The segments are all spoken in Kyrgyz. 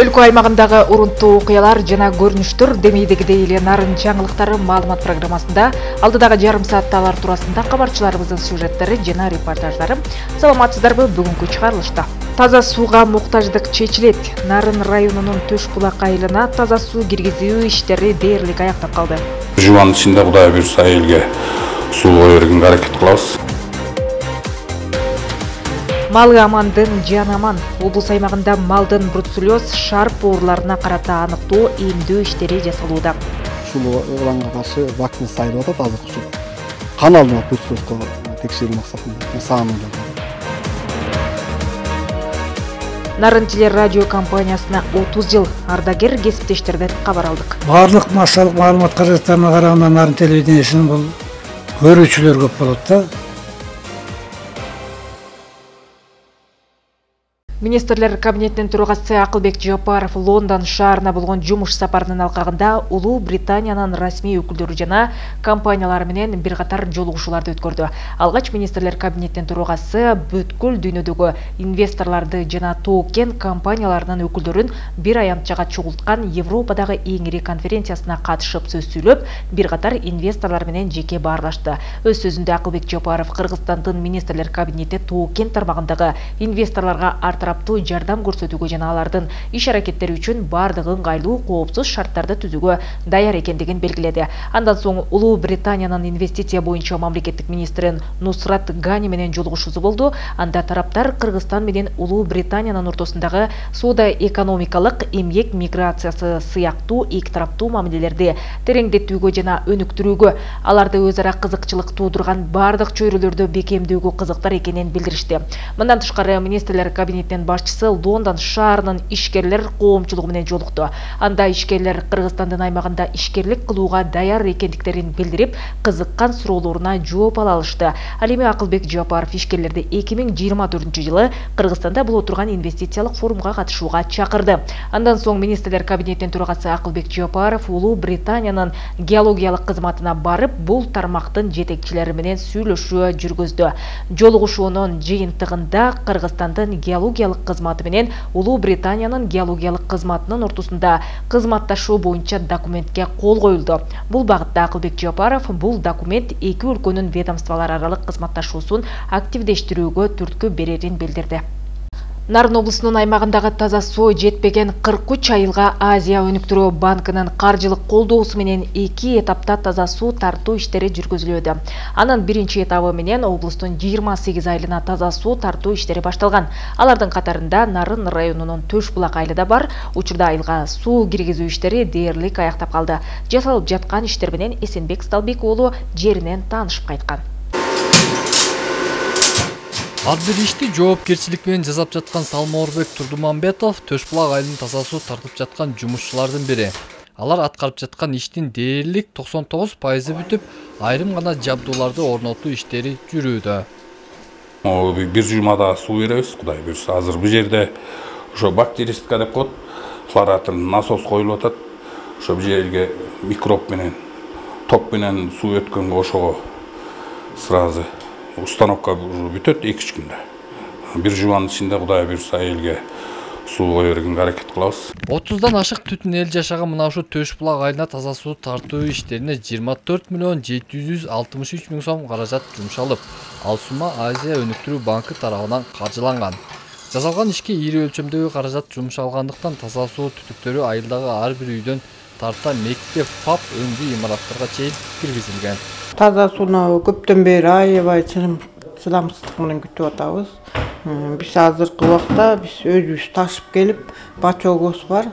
Өлкө аймагындагы урунтуу окуялар жана көрүнүштөр демейдегидей эле нарын жаңылыктары маалымат программасында алдыдагы жарым саатталар туурасында кабарчыларыбыздын сюжеттери жана репортаждары. Саламатсыздарбы, бүгүнкү чыгарылышта. Таза сууга муктаждык чечилет. Нарын районунун Төш булак айылына таза суу киргизүү иштери дээрлик аяктап калды. Жубанын ичинде Кудай буйрса элге суу кое бергенге аракет кылабыз. Малы амандын жаны аман. Облус аймагында малдын бруцеллез, шарп ооруларына карата аныктоо, эмдөө иштери жасалууда. Ушул ооруларга каршы вакцина сайылып атат азыр ушул. Кан алынат бруцеллезге текшерүү максатында саамында. Нарын теле радио компаниясына 30 жыл ардагер кесиптештерден кабар алдык. Барлык массалык маалымат каражаттарына караганда Нарын телевидениесинин бул көрүүчүлөр көп болот да. Министрлер кабинетинин төрагасы Акылбек Жапаров Лондон шаарына болгон жумуш сапарынын алкагында Улуу Британиянын расмий өкүлдөрү жана компаниялары менен бир катар жолугушууларды өткөрдү. Алгач министрлер кабинетинин төрагасы бүткүл дүйнөдөгү инвесторлорду жана тоо-кен компанияларынын өкүлдөрүн бир аянтчага чогулткан Европадагы эң ири конференциясына катышып сөз сүйлөп, бир катар инвесторлор менен жеке баарлашты. Өз сөзүндө Акылбек Жапаров Кыргызстандын министрлер кабинети тоо-кен тармагындагы инвесторлорго жардам көрсөтүүгө жана алардын иш аракеттери үчүн бардык ыңгайлуу, коопсуз шарттарды түзүүгө даяр экендигин белгиледи. Андан соң Улуу Британиянын инвестиция боюнча мамлекеттик министри Нусрат Гани менен жолугушуусу болду. Анда тараптар Кыргызстан менен Улуу Британиянын ортосундагы соода-экономикалык, эмгек миграциясы сыяктуу эки тараптуу мамилелерди тереңдетүүгө жана өнүктүрүүгө, аларды өз ара кызыкчылык туудурган бардык чөйрөлөрдө бекемдөөгө кызыктар экенин билдиришти. Мындан тышкары министрлер кабинетинин башчысы Лондон шаарынын ишкерлер коомчулугу менен жолукту. Анда ишкерлер Кыргызстандын аймагында ишкерлик кылууга даяр экендиктерин билдирип, кызыккан суроолоруна жооп ала алышты. Ал эми Акылбек Жапаров ишкерлерди 2024-жылы Кыргызстанда боло турган инвестициялык форумга катышууга чакырды. Андан соң министрлер кабинетинин төрагасы Акылбек Жапаров Улуу Британиянын геологиялык кызматына барып, бул тармактын жетекчилери менен сүйлөшүү жүргөздү. Жолугушуунун жыйынтыгында Кыргызстандын геологиялык кызматы менен Улуу Британиянын геологиялык кызматынын ортосунда кызматташуу боюнча документке кол коюлду. Бул багытта Акылбек Жапаров бул документ эки өлкөнүн ведомстволор аралык кызматташуусун активдештирүүгө түрткү берерин билдирди. Нарын облусунун аймагындагы таза суу жетпеген 43 айылга Азия өнүктүрүү банкынын каржылык колдоосу менен 2 этапта таза суу тартуу иштери жүргүзүлүүдө. Анын биринчи этабы менен облустун 28 айылына таза суу тартуу иштери башталган. Алардын катарында Нарын районунун Төш булак айылы да бар. Учурда айылга суу киргизүү иштери дээрлик аяктап калды. Жасалып жаткан иштер менен Эсенбек Сталбек уулу жеринен таанышып кайткан. Ар бир ишти жоопкерчилик менен жасап жаткан Салмоорбек Турдумамбетов Төш булак айылын таза суу тартып жаткан жумушчулардын бири. Алар аткарып жаткан иштин дээрлик 99% бүтүп, айрым гана жабдууларды орнотуу иштери жүрүүдө. Бир жумада суу беребиз, Кудай буйрса. Азыр бул жерде ошо бактеристика деп коет, хлоратор насос коюлуп атат. Ошо бул жерге микроб менен, ток менен суу өткөнгө ошого сразу установка бүтөт 2-3 күндө. Бир жубанын ичинде Кудай буйрса элге суу кое бергенге аракет кылабыз. 30дан ашык түтүн эл жашаган мына ушу Төш булак айылына таза суу тартуу иштерине 24 миллион 763 миң сом каражат жумшалып, ал сума Азия өнүктүрүү банкы тарабынан каржыланган. Жасалган ишке ири өлчөмдөгү каражат жумшалгандыктан таза суу түтүктөрү айылдагы ар бир үйдөн тарта мектеп, ФАП өңдүү имараттарга чейин киргизилген. Таза сууну көптөн бери аябай чыдамсыздык менен күтүп атабыз. Биз азыркы убакта биз өзүбүз ташып келип, бачогубуз бар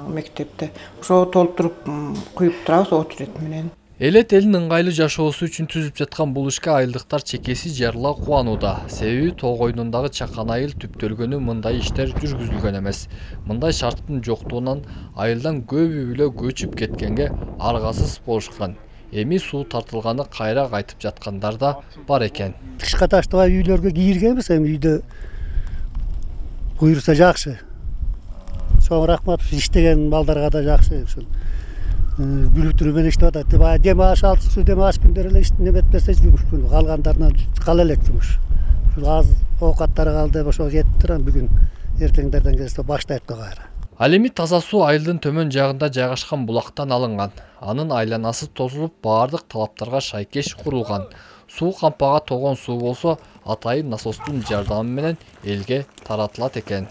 мектепте. Ошо толтуруп куюп турабыз очередь менен. Элет элдин ыңгайлуу жашоосу үчүн түзүп жаткан бул ишке айылдыктар чекеси жарыла кубанууда. Себеби тоо койнундагы чакан айыл түптөлгөнү мындай иштер жүргүзүлгөн эмес. Мындай шарттын жоктугунан айылдан көбү эле көчүп кеткенге аргасыз болушкан. Эми суу тартылганы кайра кайтып жаткандар да бар экен. Тышка таштабай үйлөргө кийиргенбиз, эми үйдө буйрса жакшы. Чоң рахмат иштеген балдарга да жакшы ушул. Бүлүктүрүү менен иштеп атат. Дем аш алтысы, дем аш күндөр эле неметпесе жумуш күнү. Калгандарына кала элек жумуш. Ушул аз оокаттары калды, ошо кетиптир. Бүгүн эртеңдерден келсе баштайт кайра. Ал эми таза суу айылдын төмөн жагында жайгашкан булактан алынган. Анын айланасы тосулуп, баардык талаптарга шайкеш курулган. Суу кампага толгон суу болсо, атайын насостун жардамы менен элге таратылат экен.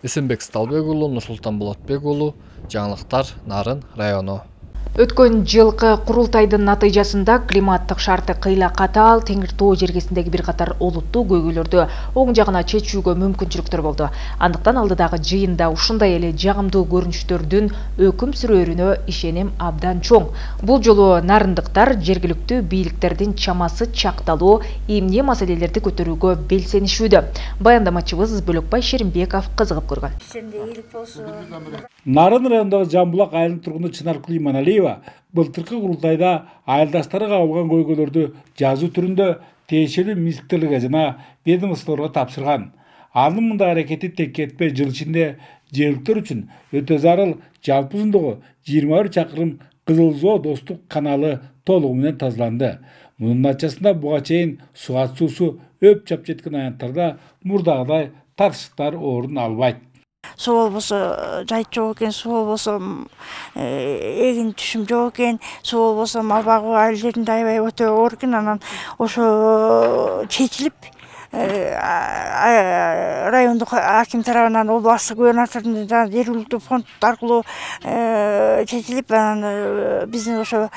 Эсенбек Сталбек уулу, Нурсултан Болотбек уулу, жаңылыктар, Нарын району. Өткөн жылкы курултайдын натыйжасында климаттык шарты кыйла катаал Теңир Тоо жергесиндеги бир катар олуттуу көйгөйлөрдү оң жагына чечүүгө мүмкүнчүлүктөр болду. Андыктан алдыдагы жыйында ушундай эле жагымдуу көрүнүштөрдүн өкүм сүрөөрүнө ишеним абдан чоң. Бул жолу нарындыктар жергиликтүү бийликтердин чамасы чакталуу эмне маселелерди көтөрүүгө белсенишүүдө. Баяндамачыбыз Бөлөкбай Шеримбеков кызыгып көргөн. Нарын районундагы Жамбулак айылынын тургуну Чынаркүл Иманалиева былтыркы курултайда айылдаштары кабылган көйгөйлөрдү жазуу түрүндө тиешелүү министрликке жана ведомстволорго тапшырган. Анын мындай аракети текке кетпей жыл ичинде жергиликтер үчүн өтө зарыл жалпы узундугу 21 чакырым Кызылзоо достук каналы толугу менен тазаланды. Мунун натыйжасында буга чейин сугат суусу өп чап жеткен аянттарда мурдагыдай тартыштар орун албайт. Суу болбосо жайыт жок экен, суу болбосо эгин түшүм жок экен, суу болбосо мал багуу айыл жеринде аябай өтө оор экен. Анан ошо чечилип райондук аким тарабынан областтык губернатордун жергиликтүү фонд аркылуу чечилип, анан биздин ошо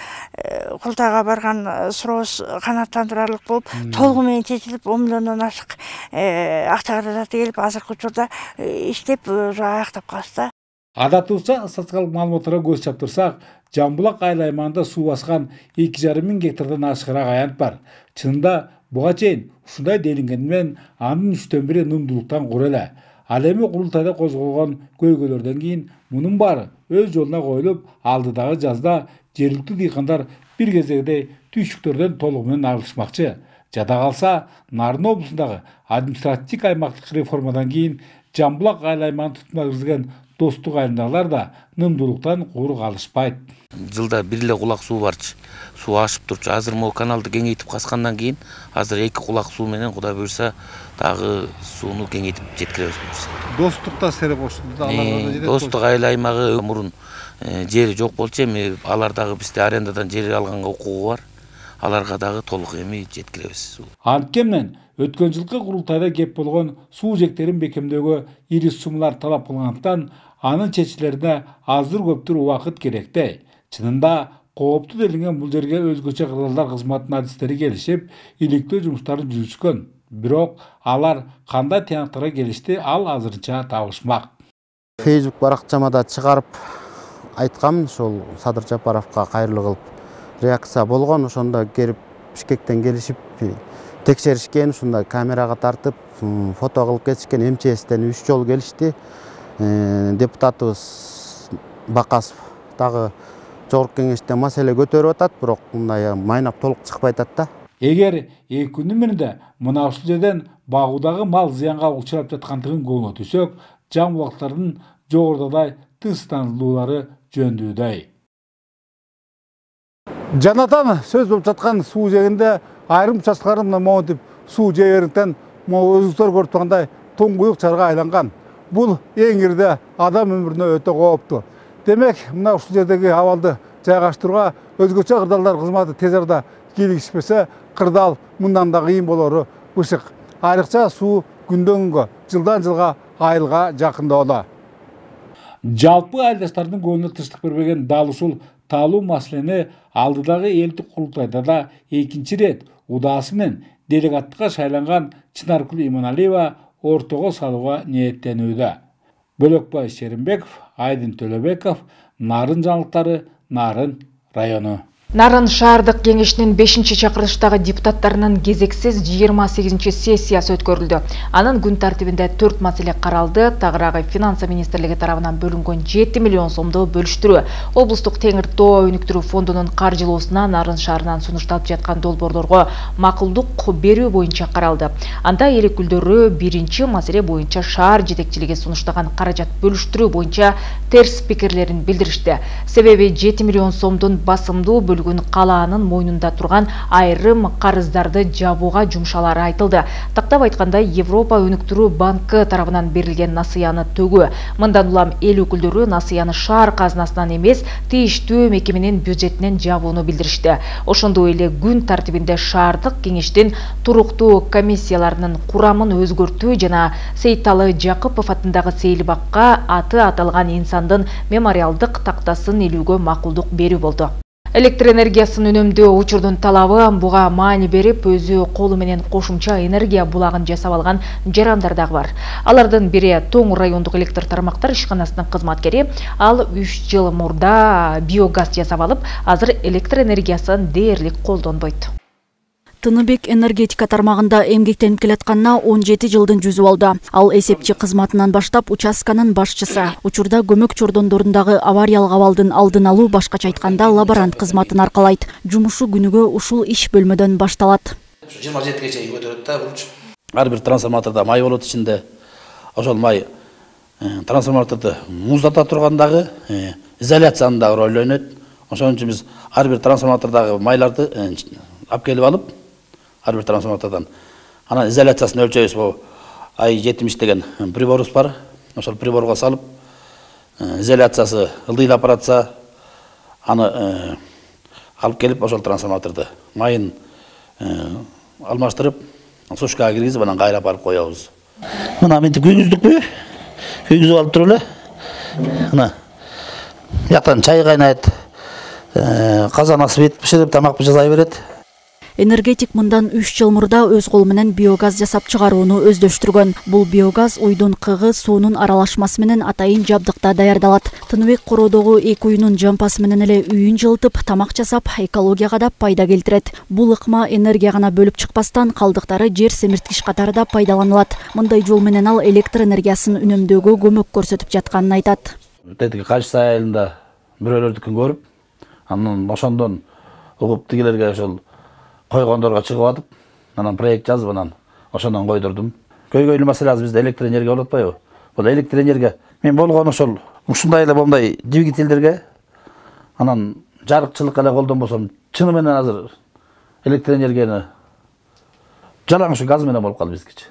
курултайга барган сурообуз канааттандырарлык болуп, толугу менен чечилип 10 миллиондон ашык акча каражаты келип, азыркы учурда иштеп аяктап калышты. Адатыбызча статистикалык маалыматтарга көз чаптырсак, Жамбулак айыл аймагында суу баскан 2,5 миң гектардан ашыгыраак аянт бар. Чынында буга чейин ушундай делингени менен анын 3/4 нымдуулуктан кур эле. Ал эми курултайда козголгон көйгөйлөрдөн кийин мунун баары өз жолуна коюлуп, алдыдагы жазда жергиликтүү дыйкандар бир кезегидей түйшүктөрдөн толугу менен арылышмакчы. Жада калса, Нарын облусундагы административдик аймактык реформадан кийин Жамбулак айыл аймагын тутумга киргизген достук айылдагылар да нымдуулуктан кур калышпайт. Жылда бир эле кулак суу барчы. Суу ашып турчу. Азыр могу каналды кеңейтип каскандан кийин азыр 2 кулак суу менен Кудай буйрса дагы сууну кеңейтип жеткиребиз буйрса. Достукта сере кошулду. Достук айыл аймагы мурун жери жок болчу, эми алар дагы бизде арендадан жер алганга укугу бар. Аларга дагы толук эми жеткиребиз. Анткени өткөн жылкы курултайда кеп болгон суу жектерин бекемдөөгө ири суммалар талап кылгандыктан анын чечилерине аздыр көптүр убакыт керекти. Чынында кооптуу делинген бул жерге өзгөчө кырдаалдар кызматынын адистери келишип, иликтөө жумуштарын жүргүзгөн. Бирок алар кандай тыянактарга келишти, ал азырынча табышмак. Facebook баракчама да чыгарып айткам, ошол Садыр Жапаровго кайрылуу кылып реакция болгон. Ошондо келип Бишкектен келишип текшеришкен, ушундай камерага тартып, фото кылып кетишкен. МЧСтен 3 жолу келишти. Депутатыбыз Бакасов дагы жогорку кеңеште маселе көтөрүп атат, бирок мындай майнап толук чыкпай атат да. Эгер 2 күндүн биринде мына ушул жерден багуудагы мал зыянга учурап жаткандыгын көңүлгө түшсөк, жамбулактардын жогорудагы тынчтандыруулары жөндөйдөй. Жанатан сөз болуп жаткан суу жегинде айрым участкаларында монтип суу жегерден өзүңүздөр көрүп тургандай туңгуюк чарга айланган. Бул эң ирде адам өмүрүнө өтө кооптуу. Демек, мына ушул жердеги абалды жайгаштырууга өзгөчө кырдаалдар кызматы тез арада кийлигишпесе, кырдаал мындан да кыйын болору ышык. Айрыкча суу күндөн күнгө, жылдан жылга айылга жакындоодо. Жалпы айылдаштардын көңүлүнө тынчтык бербеген дал ушул таалуу маселени алдыдагы элдик курултайда да 2 рет удаасы менен делегаттыкка шайланган Чынаркүл Иманалиева ортого салууга ниеттенүүдө. Бөлөкбай Шеримбеков, Айдын Төлөбеков, Нарын жаңылыктары, Нарын району. Нарын шаардык кеңешинин 5-чакырылыштагы депутаттарынын кезексиз 28 сессиясы өткөрүлдү. Анын күн тартибинде 4 маселе каралды. Тагыраагы финансы министрлиги тарабынан бөлүнгөн 7 миллион сомду бөлүштүрүү, облустук Теңир Тоо өнүктүрүү фондунун каржылоосуна Нарын шаарынан сунушталып жаткан долбоорлорго макулдук берүү боюнча каралды. Анда эл өкүлдөрү биринчи маселе боюнча шаар жетекчилиги сунуштаган каражат бөлүштүрүү боюнча терс пикирлерин билдиришти. Себеби 7 миллион сомдун басымдуу бөлүгүн калаанын мойнунда турган айрым карыздарды жабууга жумшалары айтылды. Тактап айтканда, Европа өнүктүрүү банкы тарабынан берилген насыяны төгүү. Мындан улам эл өкүлдөрү насыяны шаар казынасынан эмес, тийиштүү мекеменин бюджетинен жабууну билдиришти. Ошондой эле күн тартибинде шаардык кеңештин туруктуу комиссияларынын курамын өзгөртүү жана Сейталы Жакыпов атындагы сейилбакка аты аталган инсандын мемориалдык тактасын илүүгө макулдук берүү болду. Электр энергиясын үнөмдөө учурдун талабы буга маани берип, өзү колу менен кошумча энергия булагын жасап алган жарандар дагы бар. Алардын бири Тоң райондук электр тармактар ишканасынын кызматкери. Ал 3 жыл мурда биогаз жасап алып, азыр электр энергиясын дээрлик колдонбойт. Тыныбек энергетика тармагында эмгектенип келатканына 17 жылдын жүзү болду. Ал эсепчи кызматынан баштап участканын башчысы. Учурда көмөк чордондорундагы авариялык абалдын алдын алуу, башкача айтканда лаборант кызматын аркалайт. Жумушу күнүгө ушул иш бөлмөдөн башталат. 27 чейин көтөрөт да бул. Ар бир трансформатордо май болот ичинде. Ошол май трансформаторду муздата тургандагы изоляциянын дагы ролу ойнойт. Ошон үчүн биз ар бир трансформатордогу майларды алып келип алып, ар бир трансформатордон анан изоляциясын өлчөйбүз. Бул I70 деген приборубуз бар. Ошол приборго салып, изоляциясы ылдыйлап баратса, аны алып келип ошол трансформаторду майын алмаштырып, сушкага киргизип, анан кайрап алып коебуз. Мына мынтип күйгүздүкпү? Күйгүзүп алып туруп эле. Мына жактан чай кайнайт, казан асып биширип, тамак жасай берет. Энергетик мындан 3 жыл мурда өз колу менен биогаз жасап чыгарууну өздөштүргөн. Бул биогаз уйдун кыгы, суунун аралашмасы менен атайын жабдыкта даярдалат. Тыныбек Кородогу 2 уйунун жампасы менен эле үйүн жылытып, тамак жасап, экологияга да пайда келтирет. Бул ыкма энергия гана бөлүп чыкпастан, калдыктары жер семирткич катары да пайдаланылат. Мындай жол менен ал электр энергиясын үнөмдөөгө көмөк көрсөтүп жатканын айтат. Тетиги Качсы айылында бирөөлөрдүкүн көрүп, анан ошондон угуп тигилерге ошол койгондорго чыгып атып, анан проект жазып, анан ошондон койдурдум. Көйгөйлүү маселе азыр бизде электр энергия болуп атпайбы? Бул электр энергия мен болгон ошол ушундай эле момундай двигательдерге анан жарыкчылыкка эле колдонбосом, чыны менен азыр электр энергияны жалаң ушу газ менен болуп калды бизгичи.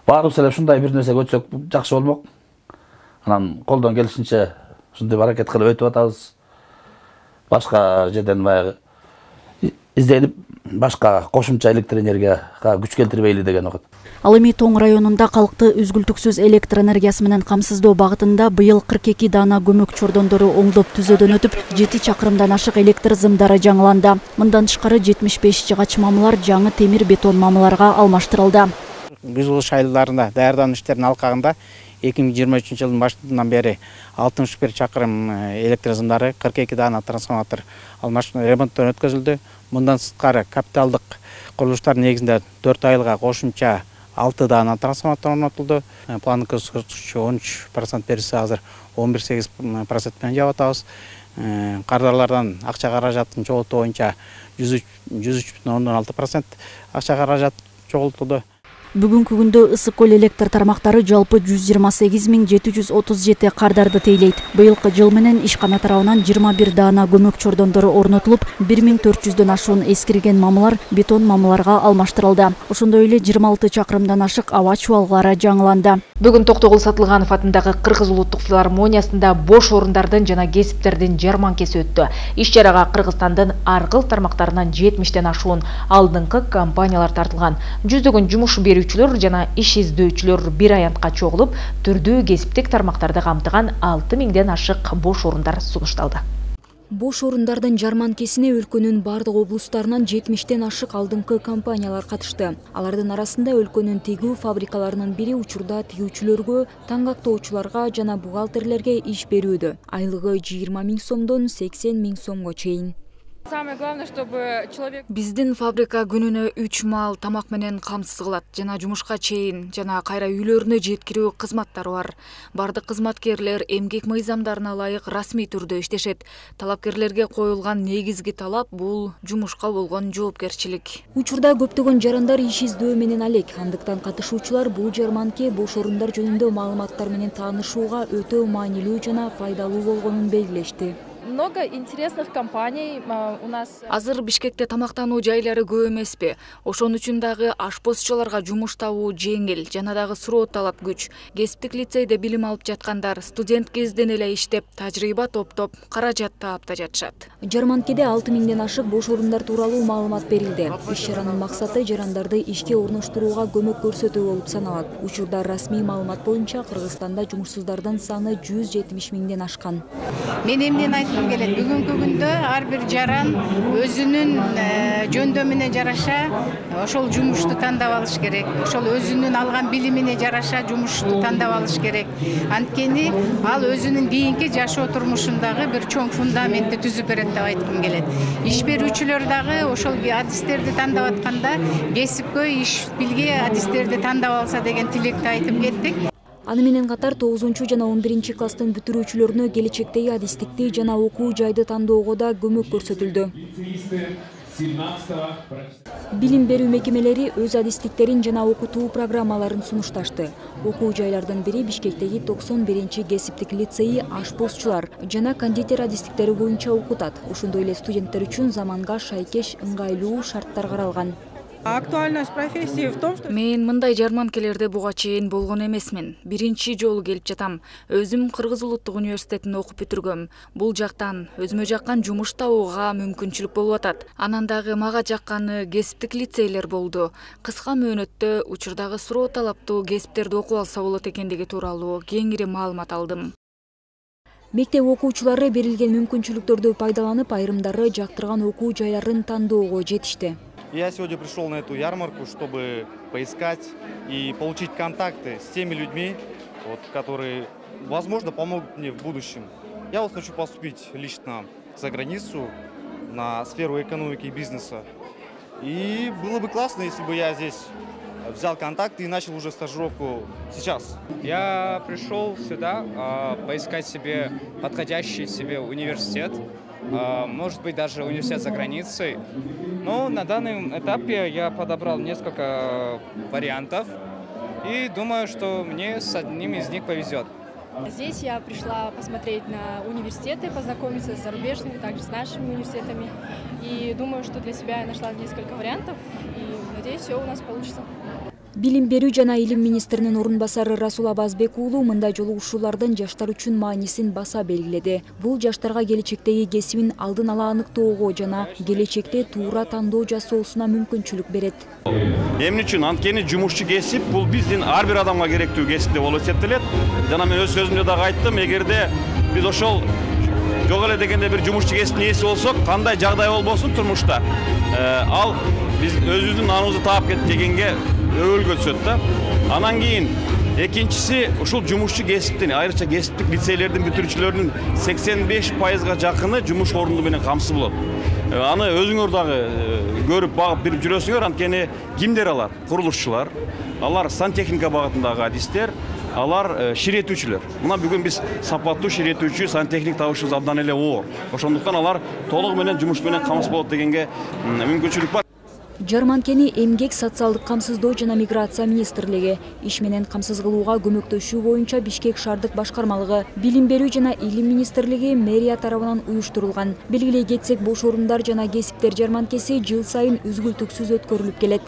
Баарыбыз эле ушундай бир нерсе өтсөк жакшы болмок. Анан колдон келишинче ушундай аракет кылып өтүп атабыз. Башка жерден баягы изденип, башка кошумча электр энергияга күч келтирбейли деген окут. Ал эми Тоң районунда калкты үзгүлтүксүз электр энергиясы менен камсыздоо багытында быйыл 42 даана көмөк чордондору оңдоп түзөөдөн өтүп, 7 чакырымдан ашык электр зымдары жаңыланды. Мындан тышкары 75 жыгач мамылар жаңы темир бетон мамыларга алмаштырылды. Күз айылдарында даярдануу иштеринин алкагында 2023 жылдын башынан бери 61 чакырым электр зымдары, 42 даана трансформатор ремонттон өткөзүлдү. Мындан сырткары капиталдык курулуштар негизинде 4 айылга кошумча 6 даана трансформатор орнотулду. Пландык көрсөткүчү 13% берилсе, азыр 11,8% менен жаап атабыз. Кардарлардан акча каражатын чогултуу боюнча 103,6% акча каражат чогултулду. Бүгүнкү күндө ысык көл электр тармактары жалпы 128.737 кардарды тейлейт. Быйылкы жыл менен ишкана тарабынан 21 даана көмөк чордондору орнотулуп, 1400дөн ашуун эскирген мамылар бетон мамыларга алмаштырылды. Ошондой эле 26 чакырымдан ашык аба чубалгылары жаңыланды. Бүгүн Токтогул Сатылганов атындагы Кыргыз улуттук филармониясында бош орундардын жана кесиптердин жарманкеси өттү. Иш чарага Кыргызстандын ар кыл тармактарынан 70ден ашуун алдыңкы компаниялар тартылган. Жүздөгөн жумуш берүүчүлөр жана иш издөөчүлөр бир аянтка чогулуп, түрдүү кесиптик тармактарды камтыган 6000ден ашык бош орундар сунушталды. Бош орундардын жарманкесине өлкөнүн бардык облустарынан 70ден ашык алдыңкы компаниялар катышты. Алардын арасында өлкөнүн тигүү фабрикаларынын бири учурда тигүүчүлөргө, таңгактоочуларга жана бухгалтерлерге иш берүүдө. Айлыгы 20 000 сомдон 80 000 сомго чейин. Самое главное, чтобы человек... Биздин фабрика күнүнө 3 маал тамак менен камсыз кылат, жана жумушка чейин, жана кайра үйлөрүнө жеткирүү кызматтары бар. Бардык кызматкерлер эмгек мыйзамдарына ылайык расмий түрдө иштешет. Талапкерлерге коюлган негизги талап бул жумушка болгон жоопкерчилик. Учурда көптөгөн жарандар иш издөө менен алек. Андыктан катышуучулар бул жарманке бош орундар жөнүндө маалыматтар менен таанышууга өтө маанилүү жана пайдалуу болгонун белгилешти. много интересных компаний у нас. Азыр Бишкекте тамактануу жайлары көп эмеспи. Ошон үчүн дагы ашпозчуларга жумуш табуу жеңил, жана дагы суроо талап күч. Кесиптик лицейде билим алып жаткандар студент кезден эле иштеп, тажрыйба топтоп, каражат таап да жатышат. Жарманкеде 6000ден ашык бош орундар тууралуу маалымат берилди. Иш-чаранын максаты жарандарды ишке орноштурууга көмөк көрсөтүү болуп саналат. Учурда расмий маалымат боюнча Кыргызстанда жумушсуздардын саны 170 миңден ашкан. Мен эмнени айткым келет? Бүгүнкү күндө ар бир жаран өзүнүн жөндөмүнө жараша ошол жумушту тандап алыш керек. Ошол өзүнүн алган билимине жараша жумушту тандап алыш керек. Анткени ал өзүнүн кийинки жашоо турмушундагы бир чоң фундаментти түзүп берет деп айткым келет. Иш берүүчүлөр дагы ошол адистерди тандап атканда кесипкөй иш билге адистерди тандап алса деген тилекти айтып кеттик. Аны менен катар 9 жана 11 класстын бүтүрүүчүлөрүнө келечектеги адистикти жана окуу жайды тандоого да көмөк көрсөтүлдү. Билим берүү мекемелери өз адистиктерин жана окутуу программаларын сунушташты. Окуу жайлардын бири Бишкектеги 91 кесиптик лицейи ашпозчулар жана кондитер адистиктери боюнча окутат. Ошондой эле студенттер үчүн заманга шайкеш ыңгайлуу шарттар каралган. Актуальность профессии в том, что Мен мындай жарманкелерде буга чейин болгон эмесмин. Биринчи жолу келип жатам. Өзүм Кыргыз улуттук университетин окуп бүтүргөм. Бул жактан өзүмө жаккан жумуш табууга мүмкүнчүлүк болуп атат. Анан дагы мага жакканы кесиптик лицейлер болду. Кыска мөөнөттө учурдагы суроо талаптуу кесиптерди окуп алса болот экендиги тууралуу кеңири маалымат алдым. Мектеп окуучулары берилген мүмкүнчүлүктөрдү пайдаланып, айрымдары жактырган окуу жайларын тандоого жетишти. Я сегодня пришел на эту ярмарку, чтобы поискать и получить контакты с теми людьми, которые, возможно, помогут мне в будущем. Я хочу поступить лично за границу на сферу экономики и бизнеса. И было бы классно, если бы я здесь взял контакты и начал уже стажировку сейчас. Я пришел сюда поискать себе подходящий себе университет. Может быть, даже университет за границей. Но на данном этапе я подобрал несколько вариантов и думаю, что мне с одним из них повезет. Здесь я пришла посмотреть на университеты, познакомиться с зарубежными, также с нашими университетами. И думаю, что для себя я нашла несколько вариантов и надеюсь, все у нас получится. Билим берүү жана илим министринин орун басары Расул Абазбек уулу мындай жолугушуулардын жаштар үчүн маанисин баса белгиледи. Бул жаштарга келечектеги кесибин алдын ала аныктоого жана келечекте туура тандоо жасоосуна мүмкүнчүлүк берет. Эмне үчүн? Анткени жумушчу кесип бул биздин ар бир адамга керектүү кесип деп болуп эсептелет. Жана мен өз сөзүмдө дагы айттым, эгерде биз ошол жок эле дегенде бир жумушчу кесиптин ээси болсок, кандай жагдай болбосун турмушта, ал биз өзүбүздүн наныбызды таап кетти дегенге өбөлгө түшөт да. Анан кийин экинчиси ушул жумушчу кесиптин, айрыкча кесиптик лицейлердин бүтүрүүчүлөрүнүн 85%га жакыны жумуш орунду менен камсыз болот. Аны өзүңөр дагы көрүп багып бирип жүрөсүңөр, анткени кимдер алар? Курулушчулар, алар сантехника багытындагы адистер, алар ширетүүчүлөр. Мына бүгүн биз сапаттуу ширетүүчү сантехник табышыбыз абдан эле оор. Ошондуктан алар толугу менен жумуш менен камсыз болот дегенге мүмкүнчүлүк бар. Жарманкени эмгек, социалдык камсыздоо жана миграция министрлиги иш менен камсыз кылууга көмөктөшүү боюнча Бишкек шаардык башкармалыгы, билим берүү жана илим министрлиги мэрия тарабынан уюштурулган. Белгилей кетсек, бош орундар жана кесиптер жарманкеси жыл сайын үзгүлтүксүз өткөрүлүп келет.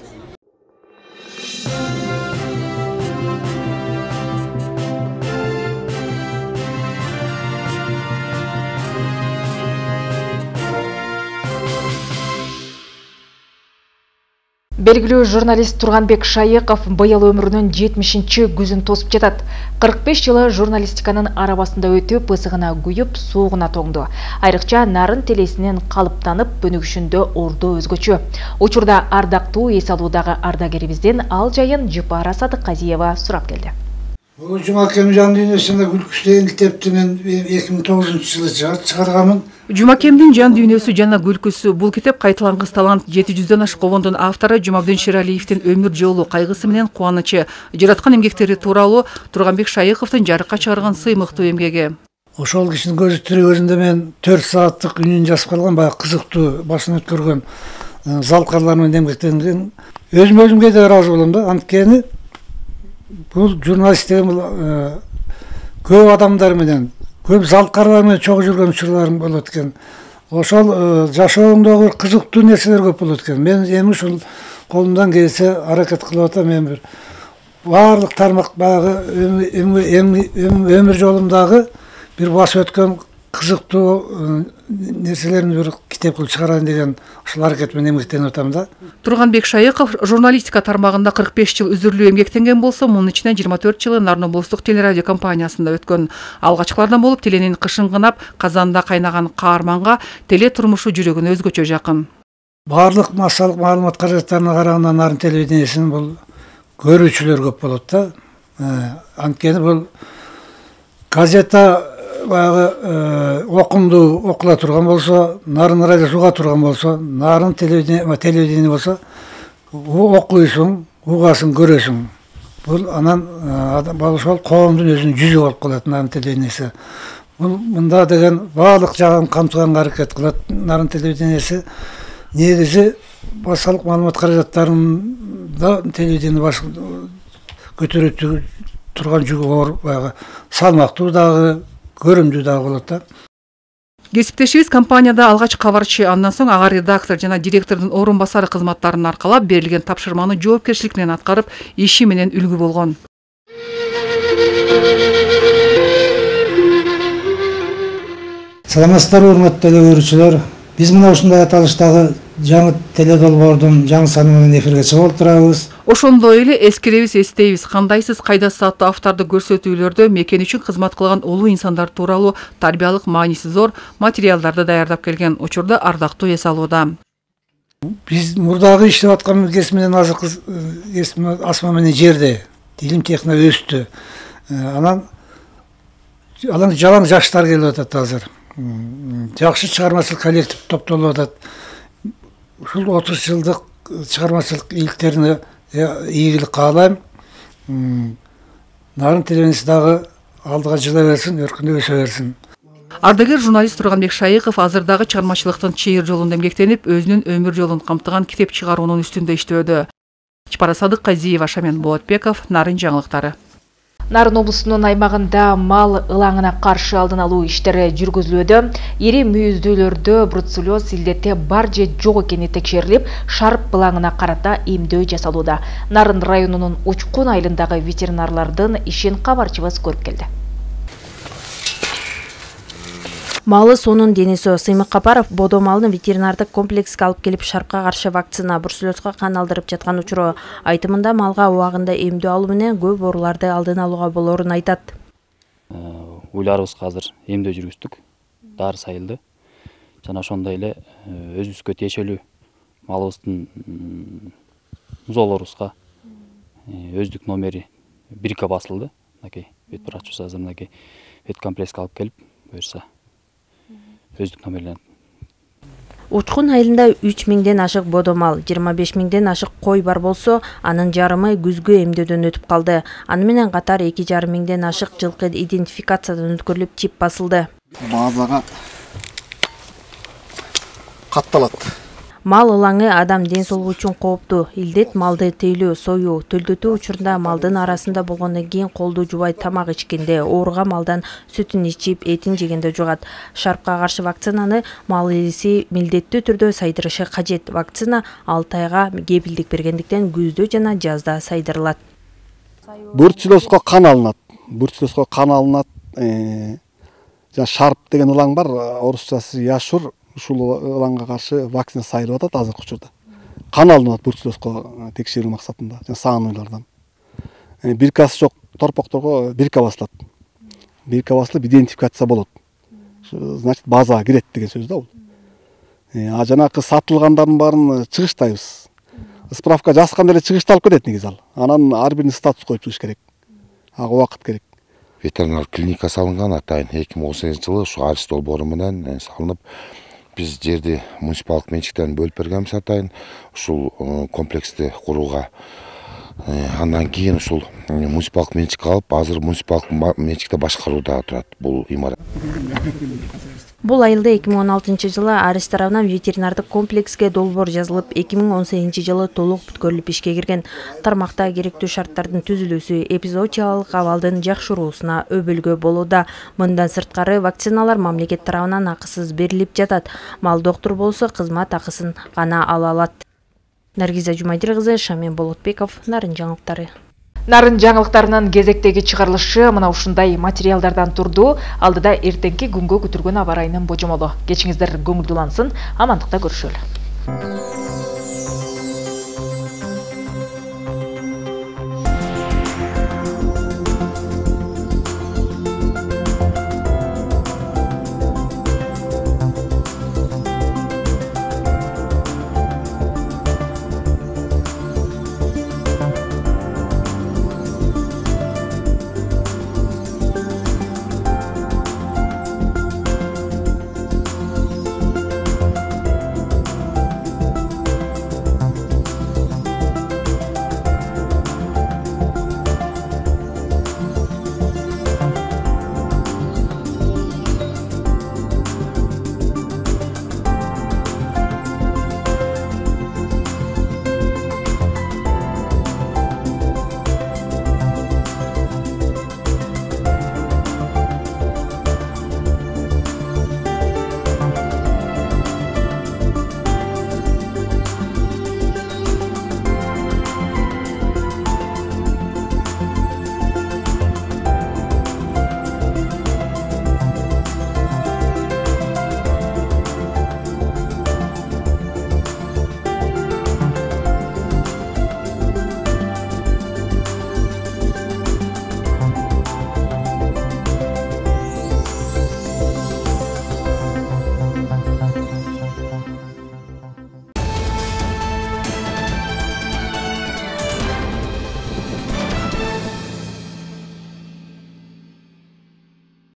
Белгилүү журналист Турганбек Шайыков быйыл өмүрүнүн 70-күзүн тосуп жатат. 45 жылы журналистиканын арабасында өтүп, ысыгына күйүп, суугуна тоңду. Айрыкча нарын телесинен калыптанып, өнүгүшүндө ордо өзгөчө. Учурда ардактуу эс алуудагы ардагерибизден ал жайын Жыпара Садыкказиева сурап келди. Бул Жумакем жан дүйнөсүндө күлкүсү деген китепти мен 2009-жылы чыгарганмын. Жумакемдин жан дүйнөсү жана күлкүсү. Бул китеп кайталангыс талант 700дөн ашык обондун автору Жумабдин Шералиевдин өмүр жолу, кайгысы менен кубанычы, жараткан эмгектери тууралуу Турганбек Шайыковдун жарыкка чыгарган сыймыктуу эмгеги. Ошол кишинин көзү тирүү өзүндө мен 4 сааттык үнүн жазып калган, баягы кызыктуу башын өткөргөн залкарлар менен эмгектенген. Өзүмө да ыраазы болом да, анткени бул журналист деген көп адамдар менен, көп залткарлар менен чогуу жүргөн учурларым болот экен. Ошол жашооңдогу кызыктуу нерселер көп болот экен. Мен эми ушул колумдан келсе аракет кылып атам. Мен бир баардык тармак баягы өмүр жолумдагы бир басып өткөн кызыктуу нерселерин бир китеп кылып чыгарайын деген ушул аракет менен эмгектенип атам да. Турганбек Шайыков журналистика тармагында 45 жыл үзүрлүү эмгектенген болсо, мунун ичинен 24 жылы Нарын облустук телерадио компаниясында өткөн. Алгачкылардан болуп теленин кышын кынап, казанда кайнаган каарманга теле турмушу жүрөгүнө өзгөчө жакын. Баардык массалык маалымат каражаттарына караганда Нарын телевидениесинин бул көрүүчүлөр көп болот да. Анткени бул газета баягы окула турган болсо, Нарын радиосу уга турган болсо, Нарын телевидение болсо, окуйсуң, угасың, көрөсүң. Бул анан ошол коомдун өзүнүн жүзү болуп калат Нарын телевидениеси. Мында деген баардык жагын камтыганга аракет кылат Нарын телевидениеси. Негизи массалык маалымат каражаттарында телевидение баш көтөрүп турган жүгү оор, баягы салмактуу дагы, көрүмдүү дагы болот да. Кесиптешибиз компанияда алгач кабарчы, андан соң ага редактор жана директордун орун басары кызматтарын аркалап, берилген тапшырманы жоопкерчилик менен аткарып, иши менен үлгү болгон. Саламатсыздарбы, урматтуу теле көрүүчүлөр. Биз мына ушундай аталыштагы жаңы теледолбоордун жаңы саны менен эфирге чыгып отурабыз. Ошондой эле эскеребиз, эстейбиз, кандайсыз кайда сааттуу автордук көрсөтүүлөрдө мекен үчүн кызмат кылган улуу инсандар тууралуу тарбиялык мааниси зор материалдарды даярдап келген учурда ардактуу эс алууда. Биз мурдагы иштеп аткан кесип менен азыркы кесип асма менен жерде илим техника өстү. Анан жалаң жаштар келип атат азыр. Жакшы чыгармачылык коллектив топтолуп атат. Ушул 30 жылдык чыгармачылык ийгиликтерине ийгилик каалайм. Нарын телевидениеси дагы алдыга жыла берсин, өркүндөп өсө берсин. Ардагер журналист Турганбек Шайыков азырдагы чыгармачылыктын чыйыр жолунда эмгектенип, өзүнүн өмүр жолун камтыган китеп чыгаруунун үстүндө иштөөдө. Чапара Садыкказиева, Шамен Болотбеков, Нарын жаңылыктары. Нарын облусунун аймагында мал ылаңына каршы алдын алуу иштери жүргүзүлүүдө. Ири мүйүздүүлөрдө бруцеллез илдети бар же жок экени текшерилип, шарп ылаңына карата эмдөө жасалууда. Нарын районунун Учкун айылындагы ветеринарлардын ишин кабарчыбыз көрүп келди. Малы сонун Денисо Сыймык Капаров бодо малын ветеринардык комплекске алып келип шарпка каршы вакцина бруцеллезга кан алдырып жаткан учуру. Айтымында малга убагында эмдөө алуу менен көп ооруларды алдын алууга болорун айтат. Уйларыбызга азыр эмдөө жүргүздүк. Дары сайылды. Жана ошондой эле өзүбүзгө тиешелүү малыбыздын музоолорубузга өздүк номери 1 басылды. Вет врачыбыз азыр вет комплекске алып келип, буюрса өздүк номерлен. Учкун айылында 3000ден ашык бодо мал, 25000ден ашык кой бар болсо, анын жарымы күзгү эмдөөдөн өтүп калды. Аны менен катар 2500ден ашык жылкы идентификациядан өткөрүлүп чип басылды. Базага катталат. Мал ылаңы адам ден соолугу үчүн кооптуу. Илдет малды тейлөө, союу, төлдөтүү учурунда малдын арасында болгондон кийин колду жубай тамак ичкенде, ооруга малдан сүтүн ичип, этин жегенде жугат. Шарпка каршы вакцинаны мал ээси милдеттүү түрдө сайдырышы кажет. Вакцина 6 айга кепилдик бергендиктен күздө жана жазда сайдырылат. Бруцеллезго кан алынат. Жана шарп деген ылаң бар, орусчасы яшур. Ушул ылаңга каршы вакцина сайылып атат азыркы учурда. Кан алынат бруцеллезго текшерүү максатында, жана саануйлардан. Биркасы жок торпокторго бирка басылат. Бирка басылып идентификация болот. Значит, базага кирет деген сөз да бул. Жанакы сатылгандардын баарын чыгыштайбыз. Справка жазганда эле чыгышталып кетет негизи ал. Анан ар бирин статус коюп чыгыш керек. Ага убакыт керек. Ветеринар клиника салынган атайын 2018-жылы ушу арс долбоору менен салынып, биз жерди муниципалдык менчиктен бөлүп бергенбиз атайын ушул комплексти курууга. Андан кийин ушул муниципалдык менчикке алып, азыр муниципалдык менчикте башкарууда турат бул имарат. Бул айылда 2016-жылы Арис тарабынан ветеринардык комплекске долбоор жазылып, 2018-жылы толук бүткөрүлүп ишке кирген. Тармакта керектүү шарттардын түзүлүүсү эпизоотиялык абалдын жакшыруусуна өбөлгө болууда. Мындан сырткары вакциналар мамлекет тарабынан акысыз берилип жатат. Мал доктур болсо кызмат акысын гана ала алат. Наргиза Жумайдир кызы, Шамен Болотбеков, Нарын жаңылыктары. Нарын жаңылыктарынын кезектеги чыгарылышы мына ушундай материалдардан турду. Алдыда эртеңки күнгө күтүлгөн аба ырайынын божомолу. Кечиңиздер көңүлдүүлансын, амандыкта көрүшөлү.